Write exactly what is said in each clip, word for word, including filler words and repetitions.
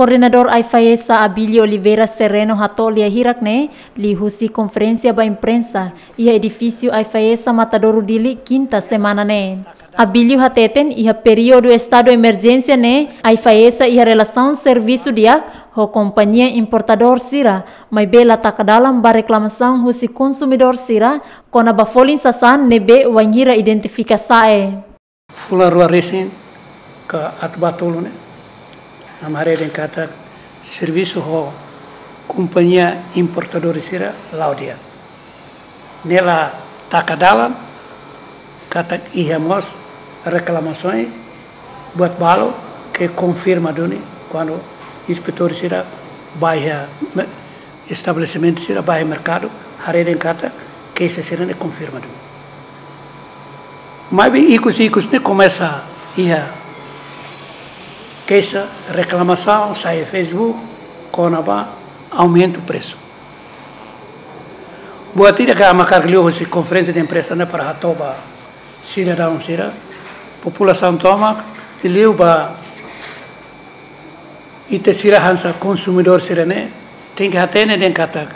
Koordenadór AIFAESA Abílio Oliveira Sereno hato'o lia hirak ne'e liuhusi konferénsia ba imprensa iha edifísiu AIFAESA Matadouro Dili, kinta semana ne'e. Abílio hateten iha períodu estadu emerjénsia ne'e AIFAESA iha relasaun servisu di'ak ho kompañia importadór sira, maibé la taka dalan ba reklamasaun husi konsumidór sira kona-ba folin sasán ne'ebé wainhira identifika sa'e. Fulan rua resin ka atu ba tolu ne'e, ami haree dehan katak servisu ho kompañia importadór sira la'o di'ak. Ne'e la taka dalan katak iha mós reklamasaun buat balu ke konfirma duni kuandu inspetór sira ba iha me-, estabelesimentu sira ba iha merkadu, haree dehan katak keixa sira-ne'e konfirma duni. Maibé ikus-ikus ne'e komesa iha keixa, reklamasaun sai Facebook kona-ba aumentu presu. Buat ida ke ami hakarak liuhusi konferénsia de imprensa ne'e para hato'o ba sidadaun sira, populasaun tomak, liuliu ba ita sira hanesan konsumidór sira-ne'e, tenke hatene dehan katak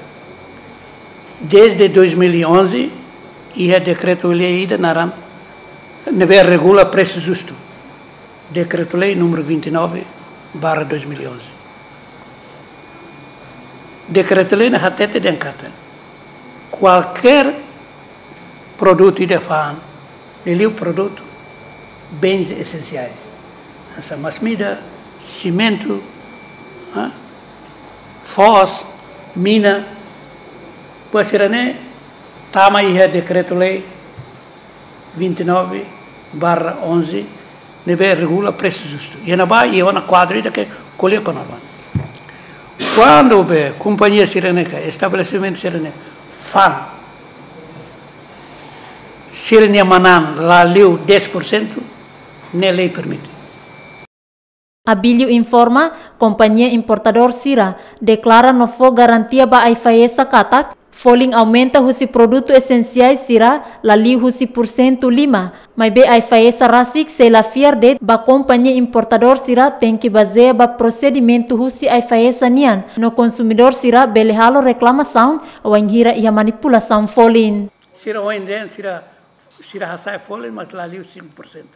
desde dois mil e onze iha dekretu-lei ida naran ne'ebé regula presu justu. Dekretu-Lei número vinte e nove barra dois mil e onze. Dekretu-lei ne'e hatete dehan katak kualkér produtu ida fa'an, liuliu produtu bens esensiais, hanesan masin-midar, simentu, ah, foos, mina, buat sira-ne'e tama iha dekretu-lei vinte e nove barra onze, ne'ebé regula presu justu. Iha ne'ebá iha ona kuadru ida ke ko'alia kona-ba kuandu be kompañia sira-ne'e ka estabelesimentu sira-ne'e fa'an sira-nia manán la liu dez por cento, ne'e lei permite. Abílio informa, kompañia importadór sira deklara no fó garantia ba AIFAESA katak folin aumenta husi produtu esensiais sira la liu husi pursentu lima, maibé AIFAESA rasik sei la fiar de'it ba kompañia importadór sira, tenke bazeia ba prosedimentu husi AIFAESA nian, no konsumidór sira bele halo reklamasaun wainhira iha manipulasaun folin. Sira ohin dehan sira, sira hasa'e folin, mas la liu cinco por cento.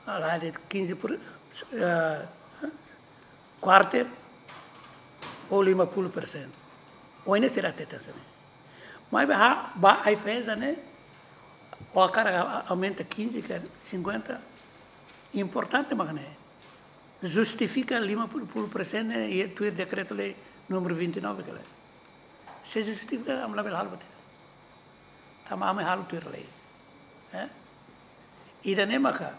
La liu quinze por, eh, quarter ou lima puluh persen. Ohin ne'e sira hateten hanesan ne'e. Maibé ba, ba AIFAESA ne'e, o hakarak a-, aumenta quinze ka cinquenta, importante mak ne'e justifika lima puluh persen ne'e, iha tuir dekretu-lei número vinte e nove ka lae. Se justifika, ami labele halo buat ida. Tanba ami halo tuir lei. Eh? Ida-ne'e maka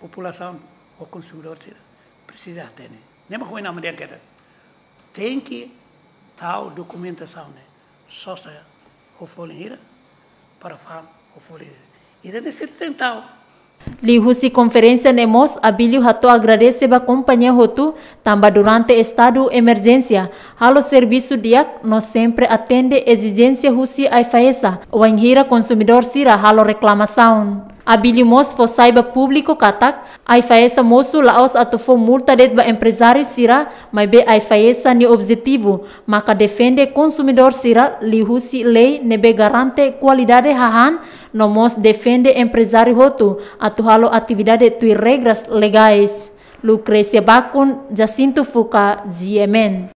populasaun ou konsumidór sira presiza hatene. Ne'e maka ohin ami dehan katak tenke tau dokumentasaun ne'e, sosa ho folin hira, para fa'an ho folin hira. Ida-ne'e sira tenke tau. Liuhusi konferénsia ne'e mós, Abílio hato'o agradese ba kompañia hotu, tanba durante estadu emerjénsia halo servisu di'ak no sempre atende ezijénsia husi AIFAESA wainhira konsumidór sira halo reklamasaun. Abílio mós fó sai ba públiku katak AIFAESA mosu la'ós atu fó multa de'it ba emprezáriu sira, maibé AIFAESA nia objetivu maka defende konsumidór sira liuhusi lei ne'ebé garante kualidade hahán, no mós defende emprezáriu hotu atu halo atividade tuir regras legais. Lucrécia Bacon, Jacinto Fuca, G M N.